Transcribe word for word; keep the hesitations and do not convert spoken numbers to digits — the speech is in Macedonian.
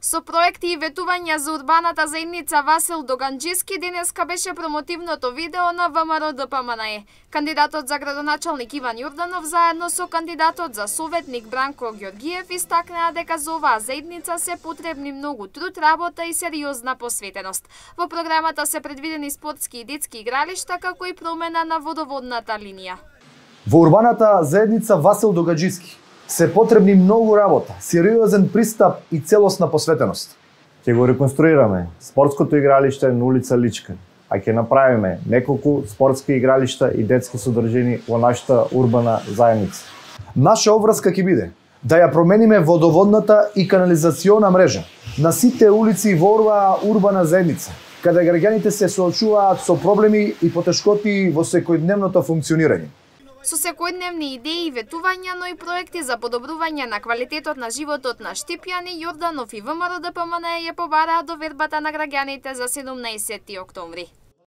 Со проекти и ветувања за урбаната заедница Васил Доганџиски денеска беше промотивното видео на ВМРО Д П М Н Е. Кандидатот за градоначалник Иван Јорданов заедно со кандидатот за советник Бранко Ѓорѓиев истакнаа дека за оваа заедница се потребни многу труд, работа и сериозна посветеност. Во програмата се предвидени спортски и детски игралишта, како и промена на водоводната линија. Во урбаната заедница Васил Доганџиски се потребни многу работа, сериозен пристап и целосна посветеност. Ќе го реконструираме спортското игралиште на улица Личка, а ќе направиме неколку спортски игралишта и детски содржини во нашата урбана заедница. Наша обврска ќе биде да ја промениме водоводната и канализациона мрежа на сите улици во оваа урбана заедница, каде граѓаните се соочуваат со проблеми и потешкоти во секојдневното функционирање. Со секојдневни идеи и ветувања, но и проекти за подобрување на квалитетот на животот на Штипјани, Јорданов и ВМРО Д П М Н Е ја побараа довербата на граѓаните за седумнаесети октомври.